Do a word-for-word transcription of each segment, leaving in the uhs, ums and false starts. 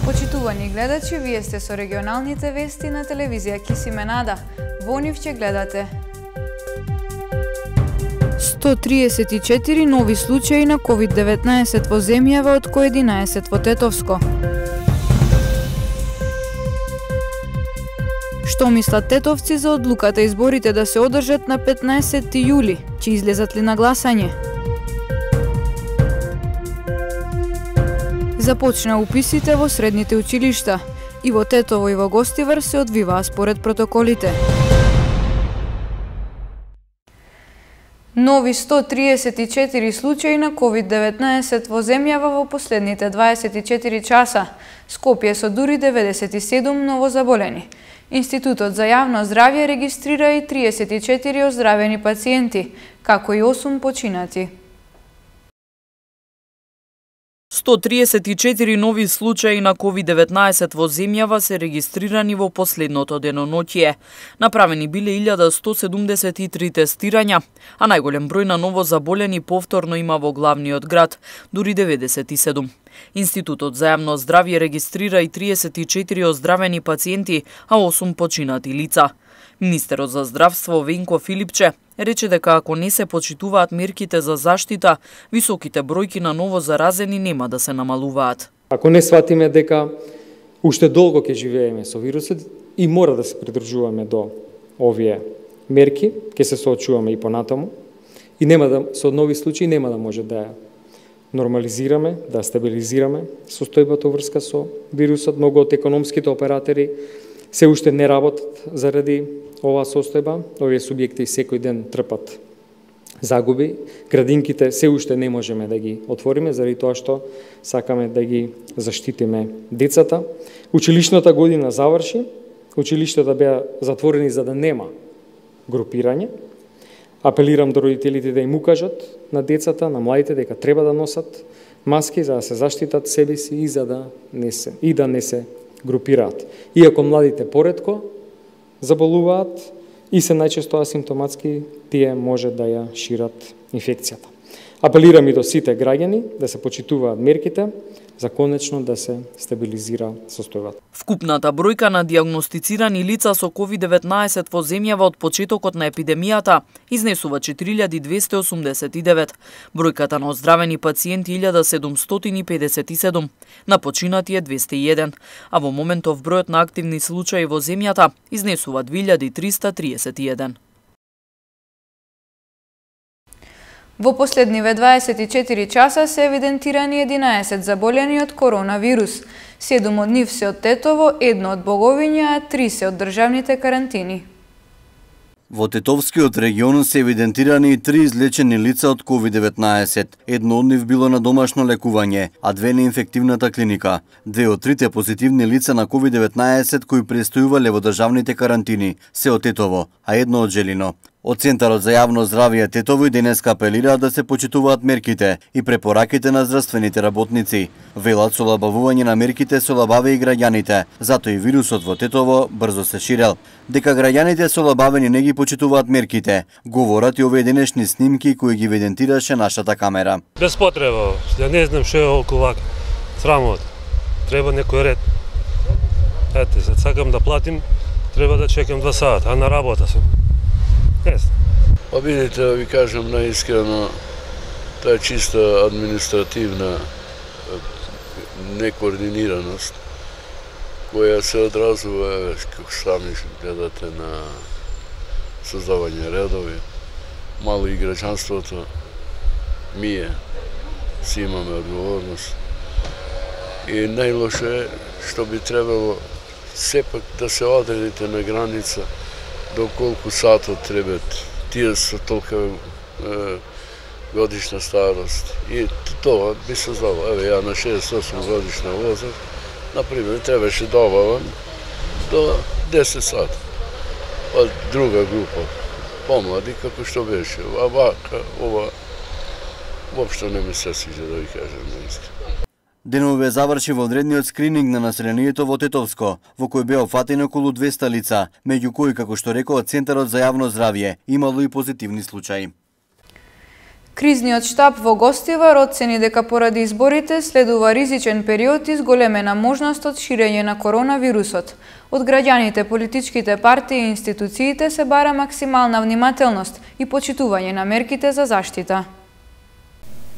Почитувани гледачи, вие сте со регионалните вести на телевизија Кисименада. Во нив ќе гледате сто триесет и четири нови случаи на ковид деветнаесет во земјава, од кои единаесет во Тетовско. Што мислат тетовци за одлуката изборите да се одржат на петнаесети јули? Ќе излезат ли на гласање? Започна уписите во средните училишта. И во Тетово и во Гостивар се одвиваа според протоколите. Нови сто триесет и четири случаи на ковид деветнаесет во земјава во последните дваесет и четири часа. Скопје со дури деветдесет и седум новозаболени. Институтот за јавно здравје регистрира и триесет и четири оздравени пациенти, како и осум починати. сто триесет и четири нови случаи на ковид деветнаесет во земјава се регистрирани во последното деноноќие. Направени биле илјада сто седумдесет и три тестирања, а најголем број на новозаболени повторно има во главниот град, дури деветдесет и седум. Институтот за јавно здравје регистрира и триесет и четири оздравени пациенти, а осум починати лица. Министерот за здравство Венко Филипче рече дека ако не се почитуваат мерките за заштита, високите бројки на новозаразени нема да се намалуваат. Ако не сватиме дека уште долго ќе живееме со вирусот и мора да се придржуваме до овие мерки, ќе се соочуваме и понатаму и нема да со нови случаи нема да може да ја нормализираме, да стабилизираме состојбата врска со вирусот. Многу од економските оператори се уште не работат заради оваа состојба. Овие субјекти секој ден трпат загуби. Градинките се уште не можеме да ги отвориме заради тоа што сакаме да ги заштитиме децата. Училишната година заврши. Училиштата беа затворени за да нема групирање. Апелирам до родителите да им укажат на децата, на младите дека треба да носат маски за да се заштитат себе си и за да не се и да не се групираат. Иако младите поретко заболуваат и се најчесто асимптоматски, тие може да ја шират инфекцијата. Апелирам и до сите граѓани да се почитуваат мерките за конечно да се стабилизира состојбата. Вкупната бројка на дијагностицирани лица со ковид деветнаесет во земјава од почетокот на епидемијата изнесува четири илјади двесте осумдесет и девет. Бројката на оздравени пациенти илјада седумстотини педесет и седум, на починати е двесте и еден, а во моментов бројот на активни случаи во земјата изнесува две илјади триста триесет и еден. Во последниве дваесет и четири часа се евидентирани единаесет заболени од коронавирус. седум од нив се од Тетово, едно од Боговиња, а три се од државните карантини. Во Тетовскиот регион се евидентирани и три излечени лица од ковид деветнаесет. Едно од нив било на домашно лекување, а две на инфективната клиника. Две од трите позитивни лица на ковид деветнаесет кои престојувале во државните карантини се од Тетово, а едно од Желино. Од Центарот за јавно здравје Тетово и денеска апелираат да се почитуваат мерките и препораките на здравствените работници. Велат со олабавување на мерките се олабаве и граѓаните, затоа и вирусот во Тетово брзо се ширел. Дека граѓаните се олабавени не ги почитуваат мерките, говорат и овие денешни снимки кои ги евидентираше нашата камера. Без потреба, ја не знам што е околу вака. Срамот. Треба некој ред. Ете, се сакам да платим, треба да чекам два сата, а на работа сум. Па видите, да ви кажам наискрено, тоа е чиста административна некоординираност, која се одразува, како сами гледате, на создавање редови. Мало и граѓанството, ние си имаме одговорност. И најлошо е што би требало сепак да се одредите на граница до колку сатот требат тие со толка е, годишна старост. И тоа би се знало. Еве, ја на шеесет и осум годишна возраст, например, требаше да обавам до десет сати. Па друга група, помлади, како што беше. А вака, ова, воопшто не ми се свиѓа, да ви кажам наистина. Денове заврши во одредниот скрининг на населението во Тетовско, во кој беа опфатени околу двесте лица, меѓу кои, како што рекоа Центарот за јавно здравје, имало и позитивни случаи. Кризниот штаб во Гостивар оцени дека поради изборите следува ризичен период и зголемена можност од ширење на коронавирусот. Од граѓаните, политичките партии и институциите се бара максимална внимателност и почитување на мерките за заштита.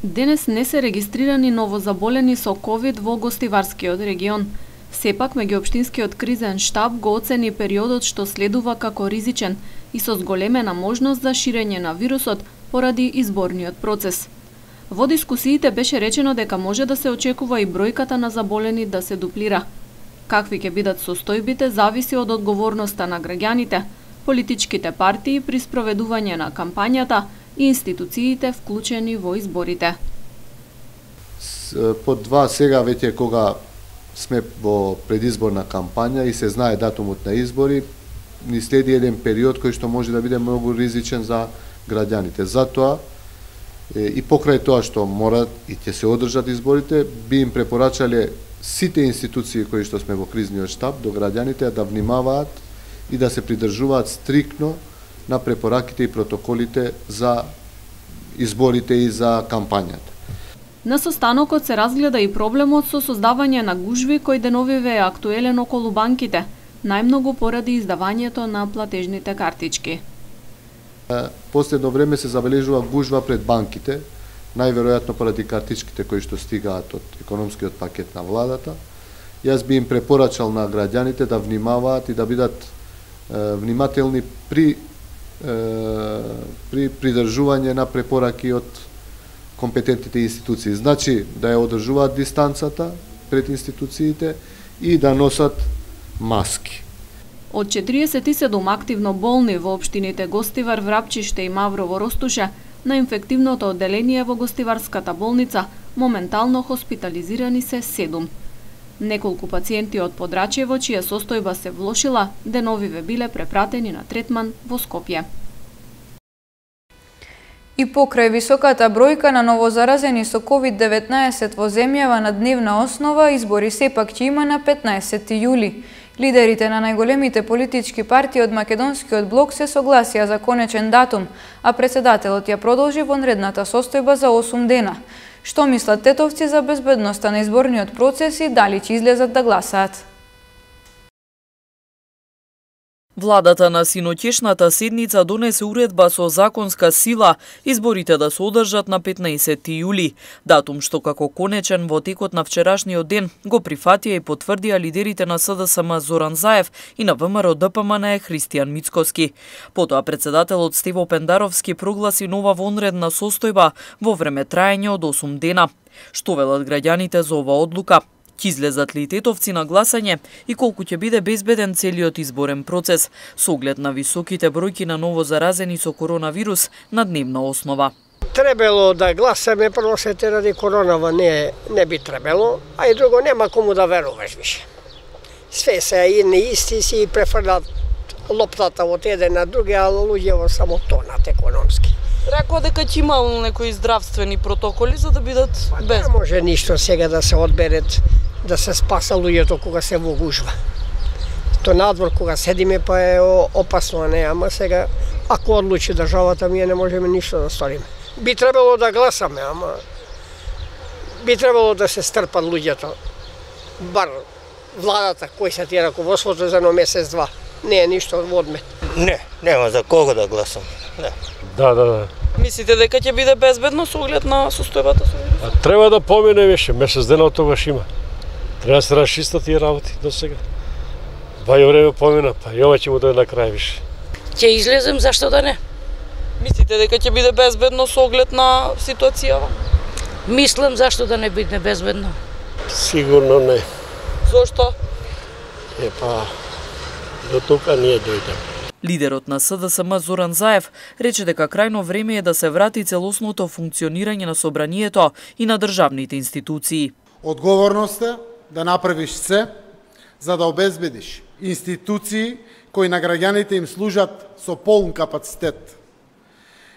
Денес не се регистрирани новозаболени со ковид во Гостиварскиот регион. Сепак, меѓуопштинскиот кризен штаб го оцени периодот што следува како ризичен и со зголемена можност за ширење на вирусот поради изборниот процес. Во дискусиите беше речено дека може да се очекува и бројката на заболени да се дуплира. Какви ќе бидат состојбите зависи од одговорноста на граѓаните, политичките партии при спроведување на кампањата и институциите вклучени во изборите. По два сега веќе кога сме во предизборна кампања и се знае датумот на избори, ни следи еден период кој што може да биде многу ризичен за граѓаните. Затоа и покрај тоа што мора и ќе се одржат изборите, би им препорачале сите институции кои што сме во кризниот штаб до граѓаните да внимаваат и да се придржуваат стрикно на препораките и протоколите за изборите и за кампањата. На состанокот се разгледа и проблемот со создавање на гужви кој деновиве е актуелен околу банките, најмногу поради издавањето на платежните картички. Последно време се забележува гужва пред банките, најверојатно поради картичките кои што стигаат од економскиот пакет на владата. Јас би им препорачал на граѓаните да внимаваат и да бидат е, внимателни при е, при придржување на препораки од компетентните институции. Значи да ја одржуваат дистанцата пред институциите и да носат маски. Од четириесет и седум активно болни во општините Гостивар, Врапчиште и Маврово Ростуше, на инфективното одделение во Гостиварската болница моментално хоспитализирани се седум. Неколку пациенти од Подрачево, чија состојба се влошила, деновиве биле препратени на третман во Скопје. И покрај високата бројка на новозаразени со ковид деветнаесет во земјава на дневна основа, избори сепак ќе има на петнаесети јули. Лидерите на најголемите политички партии од Македонскиот блок се согласија за конечен датум, а председателот ја продолжи вонредната состојба за осум дена. Што мислат тетовци за безбедноста на изборниот процес и дали ќе излезат да гласаат? Владата на синоќешната седница донесе уредба со законска сила изборите да се одржат на петнаесети јули, датум што како конечен во текот на вчерашниот ден го прифатија и потврдија лидерите на С Д С М Зоран Заев и на В М Р Д П М Н Христијан Мицкоски. Потоа председателот Стево Пендаровски прогласи нова вонредна состојба во време траење од осум дена. Што велат граѓаните за оваа одлука? Ќе излезат ли тетовци на гласање и колку ќе биде безбеден целиот изборен процес со оглед на високите бројки на новозаразени со коронавирус на дневна основа? Требало да гласаме, прво се те ради коронава не, не би требало, а и друго нема кому да веруваш више. Све се едни исти си префрлат лоптата од еден на други, а луѓето само тонат економски. Рекоа дека ќе имало некои здравствени протоколи за да бидат без. Не може ништо сега да се одберет, да се спаса луѓето кога се во гужва. То надвор кога седиме па е опасно, а не, ама сега ако одлучи државата, ние не можеме ништо да сториме. Би требало да гласаме, ама би требало да се стрпат луѓето. Бар владата кој се ти раководството за едно месец-два. Не е ништо од одмет. Не, нема за кого да гласам. Не. Да, да, да. Мислите дека ќе биде безбедно со оглед на состојбата со вирусот? Треба да помине више, месец дена од тогаш има. Треба да се расчистат тие работи до сега. Баје време помина, па и ова ќе му дојде на крај више. Ќе излезем, зашто да не? Мислите дека ќе биде безбедно со оглед на ситуацијава? Мислам зашто да не биде безбедно. Сигурно не. Зошто? Е па, до тука ние дојдеме. Лидерот на С Д С М Зоран Заев рече дека крајно време е да се врати целосното функционирање на собранието и на државните институции. Одговорноста е да направиш се за да обезбедиш институции кои на граѓаните им служат со полн капацитет.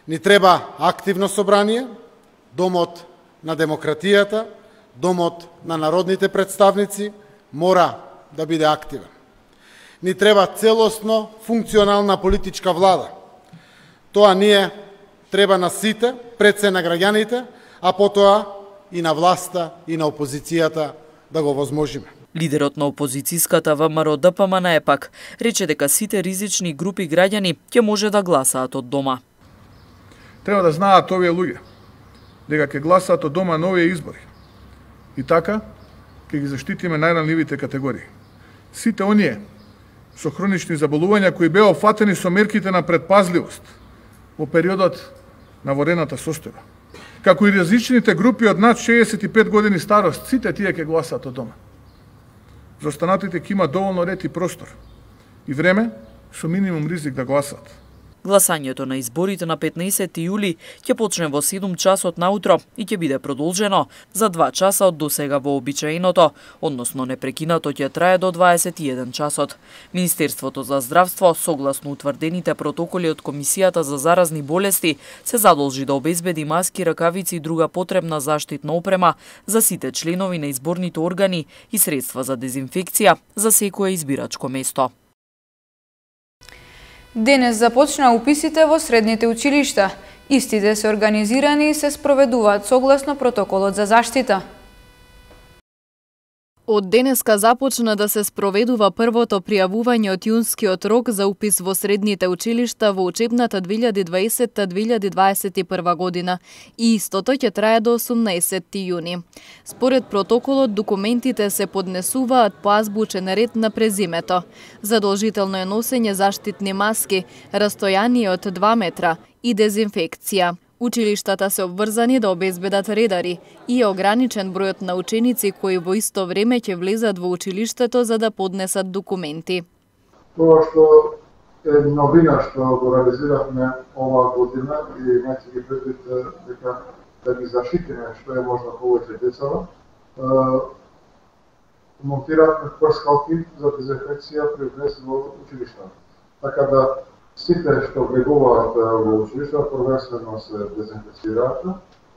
Ни треба активно собрание, домот на демократијата, домот на народните представници мора да биде активен. Ни треба целосно функционална политичка влада. Тоа ние треба на сите пред се на граѓаните, а потоа и на власта и на опозицијата да го возможиме. Лидерот на опозицијската ВМРО Д П М Н пак рече дека сите ризични групи граѓани ќе може да гласаат од дома. Треба да знаат овие луѓе дека ќе гласаат од дома на овие избори. И така ќе ги заштитиме најранливите категории. Сите оние со хронични заболувања кои беа опфатени со мерките на предпазливост во периодот на ворената состојба. Како и различните групи од над шеесет и пет години старост, сите тие ќе гласаат од дома. За останатите ќе има доволно ред и простор и време со минимум ризик да гласаат. Гласањето на изборите на петнаесети јули ќе почне во седум часот наутро и ќе биде продолжено за два часа од досега вообичаеното, односно непрекинато ќе трае до дваесет и еден часот. Министерството за здравство, согласно утврдените протоколи од Комисијата за заразни болести, се задолжи да обезбеди маски, ракавици и друга потребна заштитна опрема за сите членови на изборните органи и средства за дезинфекција за секое избирачко место. Денес започна уписите во средните училишта. Истите се организирани и се спроведуваат согласно протоколот за заштита. Од денеска започна да се спроведува првото пријавување од јунскиот рок за упис во средните училишта во учебната две илјади дваесета две илјади дваесет и прва година и истото ќе трае до осумнаесетти јуни. Според протоколот, документите се поднесуваат по азбучен ред на презимето. Задолжително е носење заштитни маски, растојание од два метра и дезинфекција. Училиштата се обврзани да обезбедат редари и е ограничен бројот на ученици кои во исто време ќе влезат во училиштето за да поднесат документи. Тоа што е новина што го реализиравме оваа година и имајќи ги предвид дека да ги заштитиме што е можно повеќе децава, монтиравме прскалки за дезинфекција при влез во училиштата. Така да сите што влегуваат во училишта првенствено се дезинфекцираат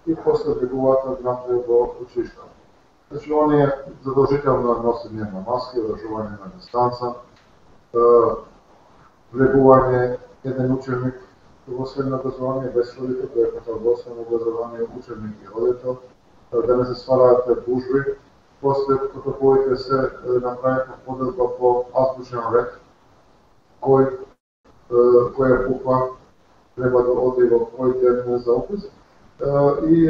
и после влегуваат внатре во училишта. Значи, оние задолжително носење на маски, одржување на дистанца, влегување еден ученик во средно образование без родител, тоа е во основно образование ученик и родител, да не се ствараат гужви. После протоколите се направиха поделба по азбучен ред, кој која буква треба да оди во кој ден за опис и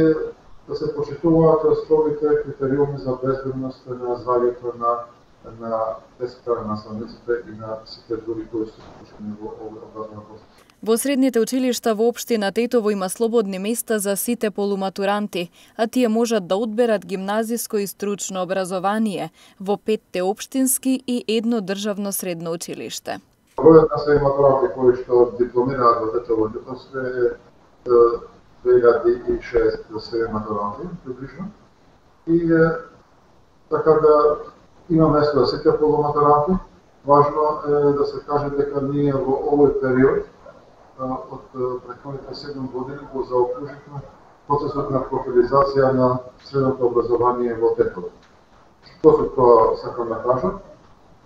да се почитуваат строгите критериуми за безбедност на здравјето на на децата, на наставниците и на сите други кои се вклучени во овој образовен процес. Во средните училишта во општина Тетово има слободни места за сите полуматуранти, а тие можат да одберат гимназиско и стручно образование во петте општински и едно државно средно училиште. Бројот на се матуранти кои што дипломираат во Тетово Тетовско е две илјади и шеесет матуранти, приближно. И така да има место за сите полуматуранти. Важно е да се каже дека ние во овој период од претходните седум години го заокруживме процесот на профилизација на средното образование во Тетово. Што се тоа сакам да кажам?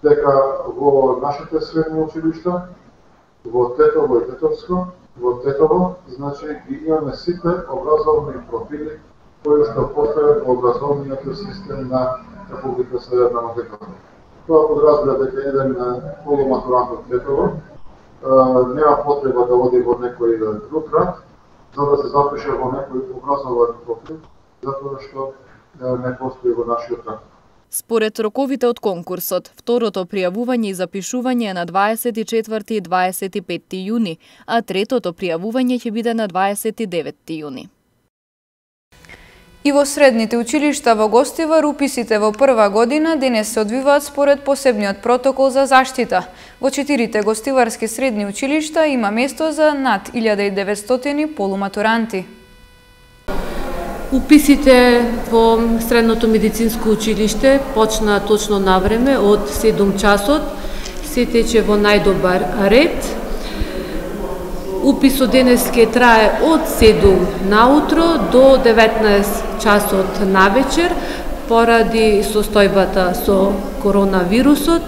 Дека во нашите средни училишта, во Тетово и Тетовско, во Тетово, значи ги имаме сите образовни профили кои што постојат во образовниот систем на Република Северна Македонија. Тоа подразбира дека еден полуматурант од Тетово нема потреба да оди во некој друг град за да се запише во некој образован профил, затоа што не постои во нашиот град. Според роковите од конкурсот, второто пријавување и запишување е на дваесет и четврти и дваесет и петти јуни, а третото пријавување ќе биде на дваесет и деветти јуни. И во средните училишта во Гостивар уписите во прва година денес се одвиваат според посебниот протокол за заштита. Во четирите гостиварски средни училишта има место за над илјада и деветстотини полуматуранти. Уписите во Средното медицинско училиште почна точно на време од седум часот. Се тече во најдобар ред. Уписот денес ќе трае од седум наутро до деветнаесет часот навечер поради состојбата со коронавирусот.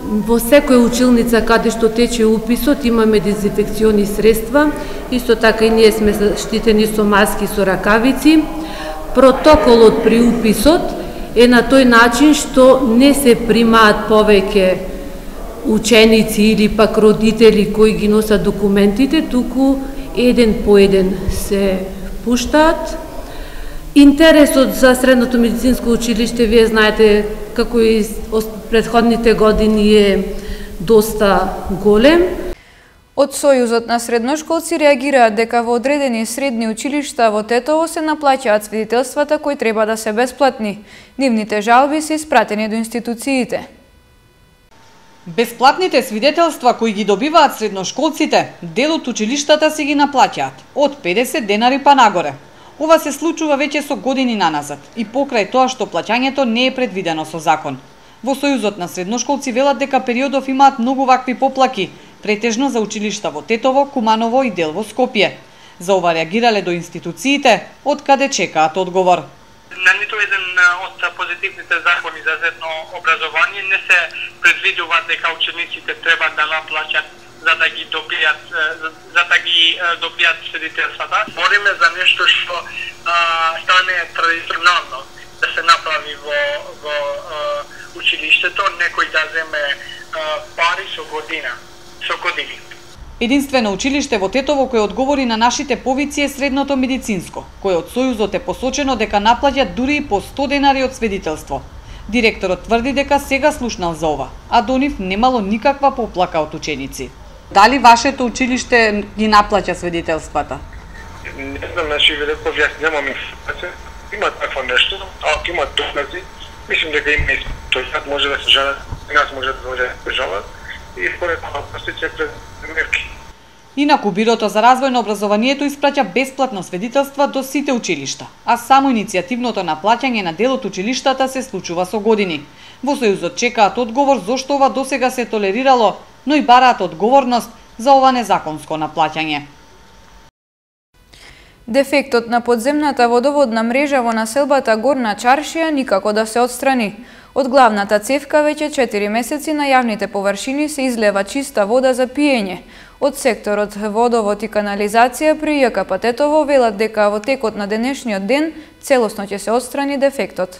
Во секоја училница каде што тече уписот имаме дезинфекциони средства, исто така и ние сме заштитени со маски, со ракавици. Протоколот при уписот е на тој начин што не се примаат повеќе ученици или пак родители кои ги носат документите, туку еден по еден се пуштаат. Интересот за средното медицинско училиште, вие знаете, како и претходните години, е доста голем. Од Сојузот на средношколци реагираат дека во одредени средни училишта во Тетово се наплаќаат свидетелствата кои треба да се бесплатни. Нивните жалби се испратени до институциите. Бесплатните свидетелства кои ги добиваат средношколците, дел од училиштата се ги наплаќаат, од педесет денари па нагоре. Ова се случува веќе со години наназад и покрај тоа што плаќањето не е предвидено со закон. Во Сојузот на средношколци велат дека периодов имаат многу вакви поплаки, претежно за училишта во Тетово, Куманово и дел во Скопје. За ова реагирале до институциите, од каде чекаат одговор. На ниту еден од позитивните закони за средно образование не се предвидува дека учениците треба да наплаќат за да ги добијат за да ги добијат свидетелствата. Бориме за нешто што стане традиционално да се направи во во училиштето, некој да земе пари со година, со години. Единствено училиште во Тетово кој одговори на нашите повици е средното медицинско, кој од Сојузот е посочено дека наплаќа дури и по сто денари од свидетелство. Директорот тврди дека сега слушнал за ова, а до нив немало никаква поплака од ученици. Дали вашето училиште ги наплаќа свидетелствата? Не знам, значи ви реков, јас немам информација. Има такво нешто, ако има докази, мислим дека има и тој може да се жалат, и нас може да може да се жалат, и според тоа постиче пред мерки. Инаку Бирото за развој на образованието испраќа бесплатно свидетелства до сите училишта, а само иницијативното наплаќање на дел од училиштата се случува со години. Во Сојузот чекаат одговор зошто ова досега се толерирало, но и бараат одговорност за ова незаконско наплаќање. Дефектот на подземната водоводна мрежа во населбата Горна Чаршија никако да се отстрани. Од главната цевка веќе четири месеци на јавните површини се излева чиста вода за пиење. Од секторот водовод и канализација при Ја К П Тетово велат дека во текот на денешниот ден целосно ќе се отстрани дефектот.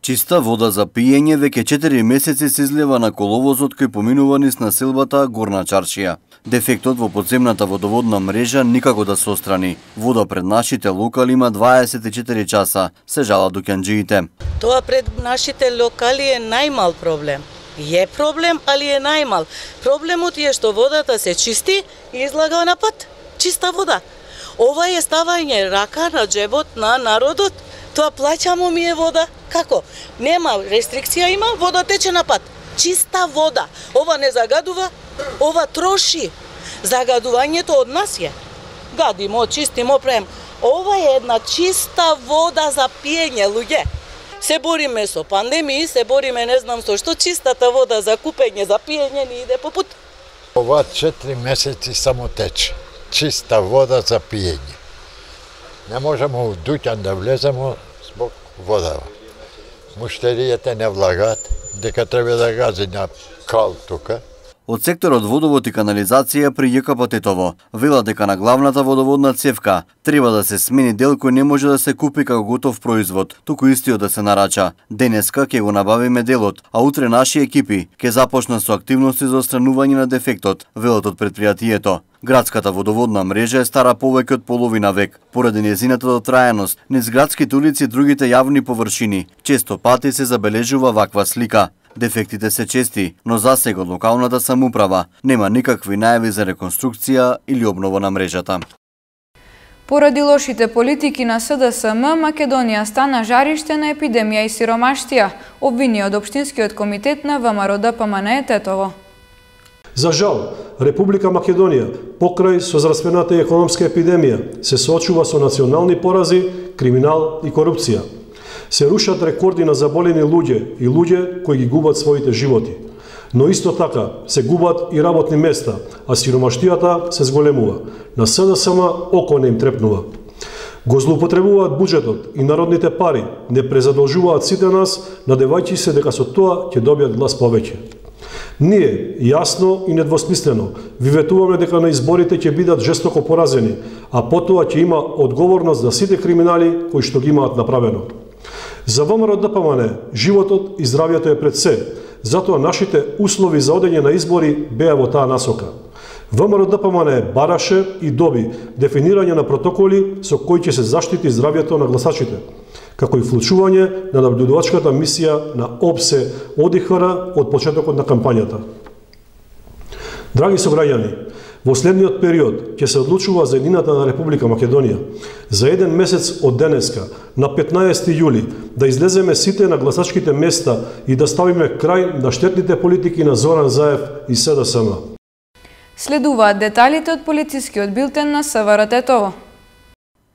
Чиста вода за пиење веќе четири месеци се излева на коловозот кој поминува низ населбата Горна Чаршија. Дефектот во подземната водоводна мрежа никако да се отстрани. Вода пред нашите локали има дваесет и четири часа, се жалат дуќанџиите. Тоа пред нашите локали е најмал проблем. Е проблем, али е најмал. Проблемот е што водата се чисти и излага на пат. Чиста вода. Ова е ставање рака на џебот на народот. Тоа плаќамо ми е вода. Како? Нема рестрикција, има, вода тече на пат. Чиста вода. Ова не загадува, ова троши. Загадувањето од нас е. Гадимо, чистимо, правим. Ова е една чиста вода за пиење, луѓе. Се бориме со пандемии, се бориме не знам со што, чистата вода за купење, за пиење ни иде по пут. Ова четири месеци само тече. Чиста вода за пиење. Не можеме у дуќан да влеземе због вода. Муштеријата не влагаат, дека треба да гази на кал тука. Од секторот водовод и канализација при Ја К П Тетово велат дека на главната водоводна цевка треба да се смени дел кој не може да се купи како готов производ, туку истиот да се нарача. Денеска ќе го набавиме делот, а утре наши екипи ќе започнат со активности за отстранување на дефектот, велат од претпријатието. Градската водоводна мрежа е стара повеќе од половина век. Поради нејзината дотрајаност, низ градските улици и другите јавни површини, често пати се забележува ваква слика. Дефектите се чести, но засега од локалната самоуправа нема никакви најави за реконструкција или обнова на мрежата. Поради лошите политики на С Д С М, Македонија стана жариште на епидемија и сиромаштија, обвини од Општинскиот комитет на В М Р Д П М Н Е Тетово. За жал, Република Македонија, покрај со зраспената економска епидемија, се соочува со национални порази, криминал и корупција. Се рушат рекорди на заболени луѓе и луѓе кои ги губат своите животи. Но исто така се губат и работни места, а сиромаштијата се зголемува. На С Д С М око не им трепнува. Го злоупотребуваат буџетот и народните пари, не презадолжуваат сите нас, надевајќи се дека со тоа ќе добијат глас повеќе. Ние, јасно и недвосмислено, ви ветуваме дека на изборите ќе бидат жестоко поразени, а потоа ќе има одговорност за сите криминали кои што ги имаат направено. За ВМРО Д П М Н животот и здравјето е пред се, затоа нашите услови за одење на избори беа во таа насока. ВМРО Д П М Н бараше и доби дефинирање на протоколи со кои ќе се заштити здравјето на гласачите, како и вклучување на наблюдувачката мисија на ОПСЕ О Д И Х Р од почетокот на кампањата. Драги сограѓани, во следниот период ќе се одлучува за едината на Република Македонија. За еден месец од денеска, на петнаесети јули, да излеземе сите на гласачките места и да ставиме крај на штетните политики на Зоран Заев и С Д С М. Следуваат деталите од полицискиот билтен на С В Р Тетово.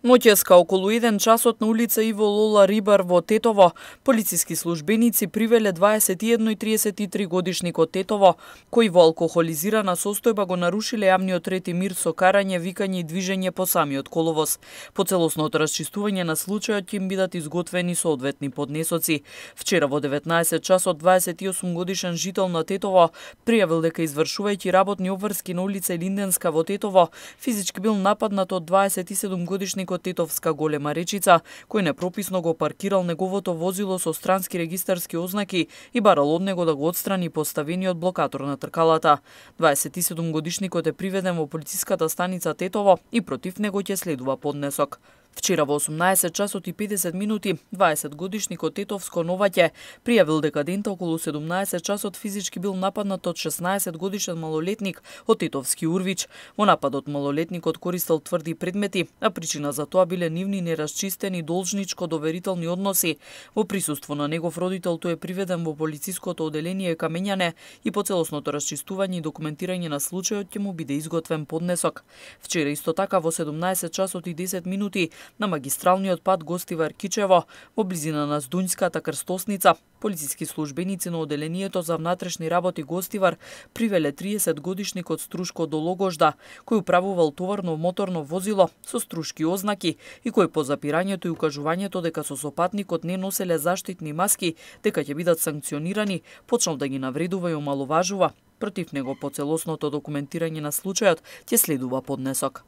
Ноќеска околу еден часот на улица Иво Лола Рибар во Тетово, полициски службеници привеле дваесет и едно и триесет и три годишникот Тетово, кој во алкохолизирана состојба го нарушиле јавниот ред и мир со карање, викање и движење по самиот коловоз. По целосното расчистување на случајот ќе им бидат изготвени соодветни поднесоци. Вчера во деветнаесет часот дваесет и осум годишен жител на Тетово пријавил дека извршувајќи работни обврски на улица Линденска во Тетово, физички бил нападнат од дваесет и седум годишник од Тетовска Голема Речица, кој непрописно го паркирал неговото возило со странски регистарски ознаки и барал од него да го отстрани поставениот блокатор на тркалата. дваесет и седум годишникот е приведен во полициската станица Тетово и против него ќе следува поднесок. Вчера во осумнаесет часот и педесет минути, дваесет годишникот Тетовско Новаќе пријавил дека дента околу седумнаесет часот физички бил нападнат од шеснаесет годишен малолетник од Тетовски Урвич. Во нападот малолетникот користел тврди предмети, а причина за тоа биле нивни нерасчистени должничко-доверителни односи. Во присуство на негов родител тој е приведен во полициското оделение Камењане и по целосното расчистување и документирање на случајот ќе му биде изготвен поднесок. Вчера исто така во седумнаесет часот и десет минути на магистралниот пат Гостивар Кичево, во близина на Здуњската крстосница, полициски службеници на оделението за внатрешни работи Гостивар привеле триесет годишникот Струшко до Логожда, кој управувал товарно моторно возило со струшки ознаки и кој по запирањето и укажувањето дека со сопатникот не носеле заштитни маски, дека ќе бидат санкционирани, почнал да ги навредува и омаловажува. Против него по целосното документирање на случајот ќе следува поднесок.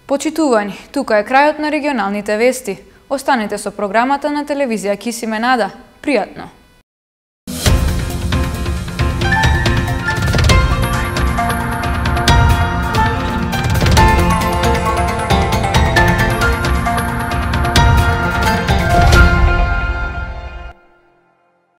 Почитувани, тука е крајот на регионалните вести. Останете со програмата на телевизија Кисиме Нада. Пријатно!